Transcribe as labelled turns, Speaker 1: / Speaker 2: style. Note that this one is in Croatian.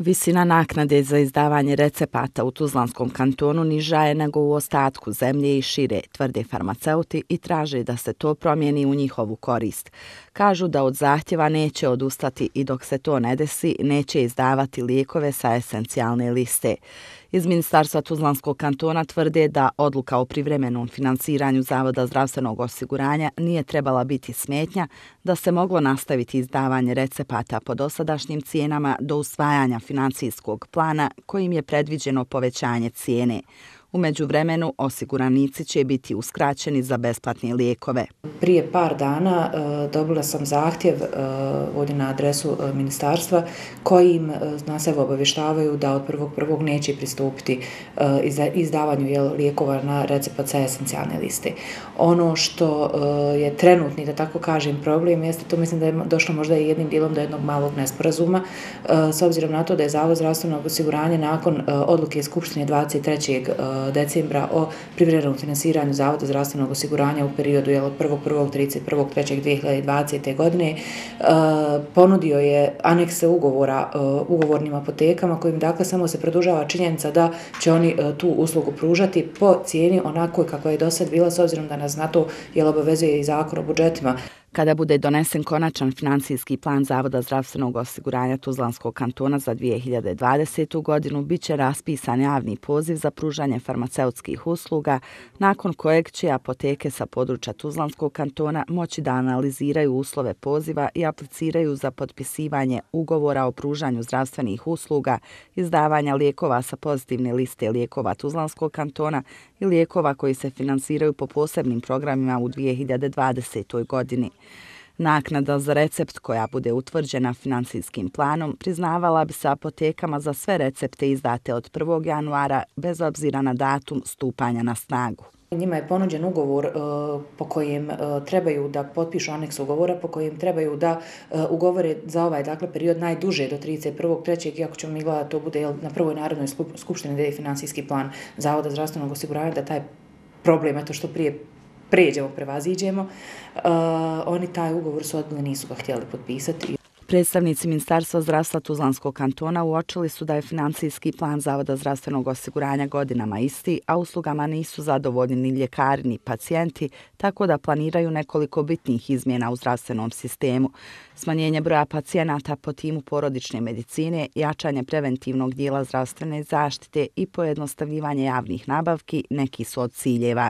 Speaker 1: Visina naknade za izdavanje recepata u Tuzlanskom kantonu niža je nego u ostatku zemlje i šire, tvrde farmaceuti i traže da se to promijeni u njihovu korist. Kažu da od zahtjeva neće odustati i dok se to ne desi, neće izdavati lijekove sa esencijalne liste. Iz Ministarstva Tuzlanskog kantona tvrde da odluka o privremenom finansiranju Zavoda zdravstvenog osiguranja nije trebala biti smetnja, da se moglo nastaviti izdavanje recepata po dosadašnjim cijenama do usvajanja financijskog plana kojim je predviđeno povećanje cijene. U međuvremenu osiguranici će biti uskraćeni za besplatne lijekove.
Speaker 2: Prije par dana dobila sam zahtjev ovdje na adresu ministarstva kojim nas evo obavještavaju da od 1.1. neće pristupiti izdavanju lijekova na recept sa esencijalne liste. Ono što je trenutni, da tako kažem, problem jeste, to mislim da je došlo možda i jednim dijelom do jednog malog nesporazuma, s obzirom na to da je Zavod zdravstvenog osiguranja nakon odluke Skupštine 23. decembra o privremenom finansiranju Zavoda zdravstvenog osiguranja u periodu od 1.1.–31.3.2020. godine ponudio je anekse ugovora ugovornim apotekama kojim dakle samo se produžava činjenica da će oni tu uslugu pružati po cijeni onako kakva je do sad bila, s obzirom da nas na to obavezuje i Zakon o budžetima.
Speaker 1: Kada bude donesen konačan financijski plan Zavoda zdravstvenog osiguranja Tuzlanskog kantona za 2020. godinu, bit će raspisan javni poziv za pružanje farmaceutskih usluga, nakon kojeg će apoteke sa područja Tuzlanskog kantona moći da analiziraju uslove poziva i apliciraju za potpisivanje ugovora o pružanju zdravstvenih usluga, izdavanja lijekova sa pozitivne liste lijekova Tuzlanskog kantona i lijekova koji se finansiraju po posebnim programima u 2020. godini. Naknada za recept koja bude utvrđena financijskim planom priznavala bi se apotekama za sve recepte izdate od 1. januara bez obzira na datum stupanja na snagu.
Speaker 2: Njima je ponuđen ugovor po kojem trebaju da potpišu aneks ugovora, po kojem trebaju da ugovore za ovaj period najduže do 31.3. iako ćemo mi gledati to bude na prvoj Narodnoj skupštini gdje je financijski plan Zavoda zdravstvenog osiguranja, da taj problem, eto što prije pređemo, prevaziđemo, oni taj ugovor su odbili, nisu ga htjeli potpisati.
Speaker 1: Predstavnici Ministarstva zdravstva Tuzlanskog kantona uočili su da je financijski plan Zavoda zdravstvenog osiguranja godinama isti, a uslugama nisu zadovoljni ni ljekari ni pacijenti, tako da planiraju nekoliko bitnih izmjena u zdravstvenom sistemu. Smanjenje broja pacijenata po timu porodične medicine, jačanje preventivnog dijela zdravstvene zaštite i pojednostavljivanje javnih nabavki neki su od ciljeva.